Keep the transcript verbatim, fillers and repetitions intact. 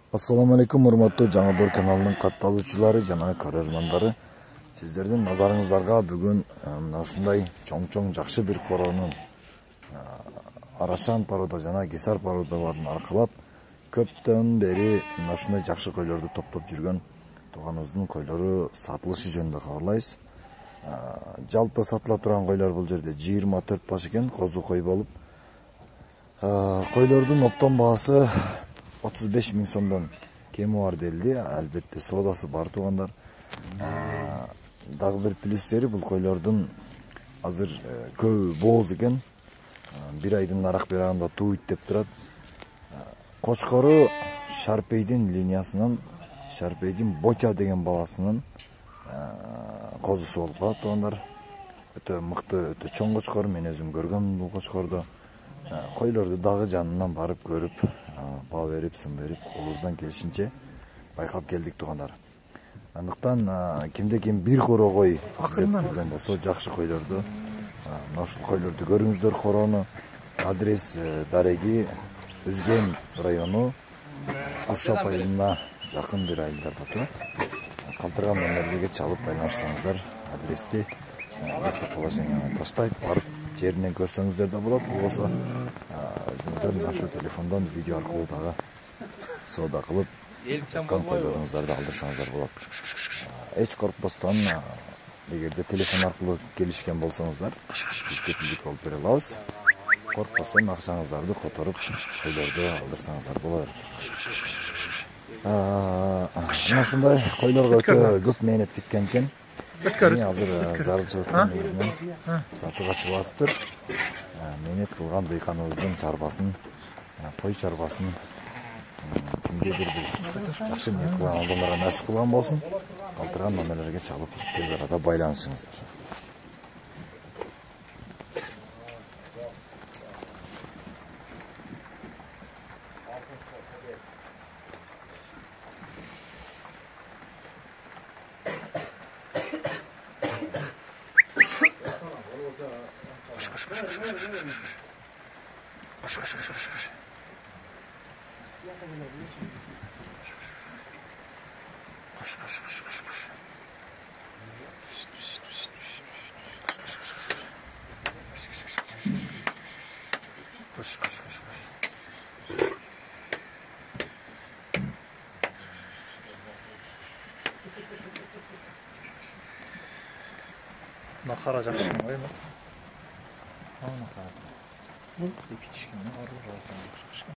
Assalamu alaikum урматтуу Жаңы Дор каналынын катталуучулары жана көрөрмандары. Сиздердин назарыңыздарга бүгүн мына ушундай чоң-чоң жакшы бир коронун Арашан порода жана Гисар породаларын аркылап көптөн бери мына ушундай жакшы койлорду топтоп жүргөн тууганыбыздын койлору сатылышы жөнүндө кабарлайбыз. Жалпы сатыла турган койлор бул жерде жыйырма төрт баш экен, козу кой болуп. Койлордун оптон баасы отуз беш миң сомдон кеми бар делди. Албетте соодасы бар туугандар. Дагы бир плюс жери бул койлордун азыр көбү бооз экен. Бир айдын арак берагында тууйт деп турат. Кочкору Шарпейдин линиясынан, Шарпейдин Ботя деген баласынын козусу болуп калат туугандар. Өтө мыкты, өтө чоң кочкор. Мен өзүм көргөм бул кочкорду. Койлорду дагы жанынан барып көрүп, баа берип, сын берип, колубуздан келишинче байкап келдик туугандар. Андыктан кимде ким бир коро кой деп жүргөн болсо, жакшы койлорду, мына ушул койлорду көрүңүздөр. Корону адрес дареги Өзгөн району Куршап айылына жакын бир айылдарда турат. Калтырган номерлерге чалып байланышсаңыздар, адрести местоположениени таштайт, барып жеринен көрсөңүздөр да болот. Болбосо өзүңүздөр мына ушул телефондон видео аркылуу дагы соода кылып жаткан койлоруңуздарды алдырсаңыздар болот. Эч коркпостон, эгерде телефон аркылуу келишкен болсоңуздар, биз кепилдик болуп бере алабыз. Коркпостон акчаңыздарды которуп койлорду алдырсаңыздар болот. Мына ушундай койлорго өтө көп мээнет кеткен экен. Эми азыр зарылчылыктын өзүнөн сатууга чыгып атыптыр. Мээнет кылган дыйканыбыздын чарбасын, кой чарбасын кимдедир бир жакшы ниет кылган адамдарга насип кылган болсун. Калтырган номерлерге чалып тез арада байланышыңыздар. Накара жакшы го эми. Ана кара. Бул кичикне аруу